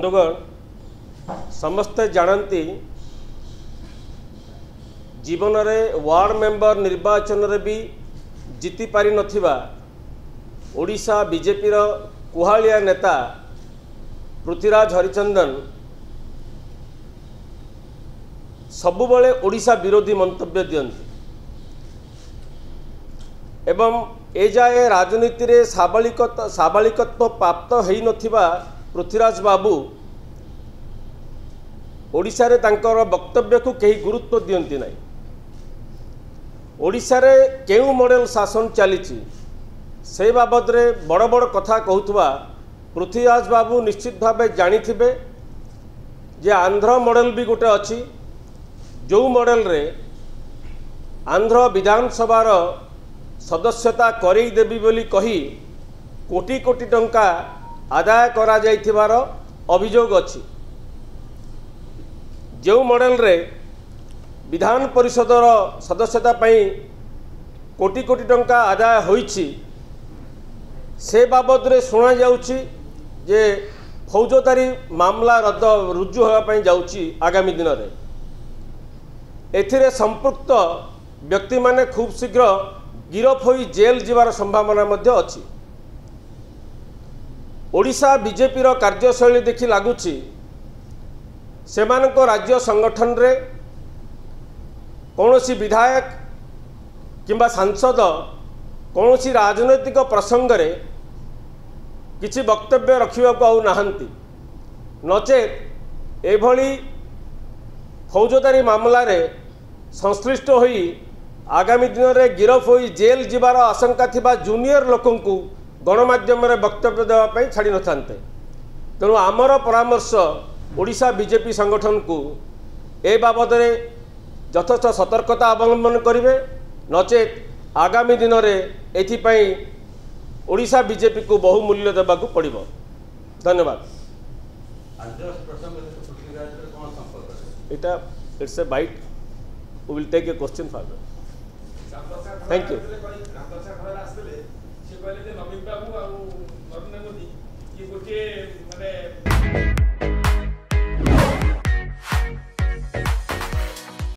ବନ୍ଧୁଗଣ, ସମସ୍ତେ ଜାଣନ୍ତି ଜୀବନରେ ୱାର୍ଡ଼ ମେମ୍ବର ନିର୍ବାଚନରେ ବି ଜିତି ପାରିନଥିବା ଓଡ଼ିଶା ବିଜେପିର କୁହାଳିଆ ନେତା ପୃଥ୍ୱୀରାଜ ହରିଚନ୍ଦନ ସବୁବେଳେ ଓଡ଼ିଶା ବିରୋଧୀ ମନ୍ତବ୍ୟ ଦିଅନ୍ତି ଏବଂ ଏଯାଏ ରାଜନୀତିରେ ସାବାଳିକତ୍ୱ ପ୍ରାପ୍ତ ହୋଇନଥିବା ପୃଥ୍ୱୀରାଜ ବାବୁ ଓଡ଼ିଶାରେ ତାଙ୍କର ବକ୍ତବ୍ୟକୁ କେହି ଗୁରୁତ୍ୱ ଦିଅନ୍ତି ନାହିଁ। ଓଡ଼ିଶାରେ କେଉଁ ମଡ଼େଲ ଶାସନ ଚାଲିଛି ସେ ବାବଦରେ ବଡ଼ ବଡ଼ କଥା କହୁଥିବା ପୃଥ୍ୱୀରାଜ ବାବୁ ନିଶ୍ଚିତ ଭାବେ ଜାଣିଥିବେ ଯେ ଆନ୍ଧ୍ର ମଡ଼େଲ ବି ଗୋଟେ ଅଛି, ଯେଉଁ ମଡ଼େଲରେ ଆନ୍ଧ୍ର ବିଧାନସଭାର ସଦସ୍ୟତା କରେଇ ଦେବି ବୋଲି କହି କୋଟି କୋଟି ଟଙ୍କା ଆଦାୟ କରାଯାଇଥିବାର ଅଭିଯୋଗ ଅଛି। ଯେଉଁ ମଡ଼େଲରେ ବିଧାନ ପରିଷଦର ସଦସ୍ୟତା ପାଇଁ କୋଟି କୋଟି ଟଙ୍କା ଆଦାୟ ହୋଇଛି ସେ ବାବଦରେ ଶୁଣାଯାଉଛି ଯେ ଫୌଜଦାରୀ ମାମଲା ରଦ୍ଦ ରୁଜୁ ହେବା ପାଇଁ ଯାଉଛି ଆଗାମୀ ଦିନରେ। ଏଥିରେ ସମ୍ପୃକ୍ତ ବ୍ୟକ୍ତିମାନେ ଖୁବ୍ ଶୀଘ୍ର ଗିରଫ ହୋଇ ଜେଲ୍ ଯିବାର ସମ୍ଭାବନା ମଧ୍ୟ ଅଛି। ଓଡ଼ିଶା ବିଜେପିର କାର୍ଯ୍ୟଶୈଳୀ ଦେଖି ଲାଗୁଛି ସେମାନଙ୍କ ରାଜ୍ୟ ସଂଗଠନରେ କୌଣସି ବିଧାୟକ କିମ୍ବା ସାଂସଦ କୌଣସି ରାଜନୈତିକ ପ୍ରସଙ୍ଗରେ କିଛି ବକ୍ତବ୍ୟ ରଖିବାକୁ ଆଉ ନାହାନ୍ତି, ନଚେତ୍ ଏଭଳି ଫୌଜଦାରୀ ମାମଲାରେ ସଂଶ୍ଳିଷ୍ଟ ହୋଇ ଆଗାମୀ ଦିନରେ ଗିରଫ ହୋଇ ଜେଲ୍ ଯିବାର ଆଶଙ୍କା ଥିବା ଜୁନିୟର ଲୋକଙ୍କୁ ଗଣମାଧ୍ୟମରେ ବକ୍ତବ୍ୟ ଦେବା ପାଇଁ ଛାଡ଼ି ନଥାନ୍ତେ। ତେଣୁ ଆମର ପରାମର୍ଶ ଓଡ଼ିଶା ବିଜେପି ସଂଗଠନକୁ ଏ ବାବଦରେ ଯଥେଷ୍ଟ ସତର୍କତା ଅବଲମ୍ବନ କରିବେ, ନଚେତ୍ ଆଗାମୀ ଦିନରେ ଏଥିପାଇଁ ଓଡ଼ିଶା ବିଜେପିକୁ ବହୁ ମୂଲ୍ୟ ଦେବାକୁ ପଡ଼ିବ। ଧନ୍ୟବାଦ। ଏଇଟା it's a bite, we will take a question further. Thank you. ସେ କହିଲେ ଯେ ନବୀନ ବାବୁ ଆଉ ନରେନ୍ଦ୍ର ମୋଦି ଇଏ ଗୋଟିଏ ମାନେ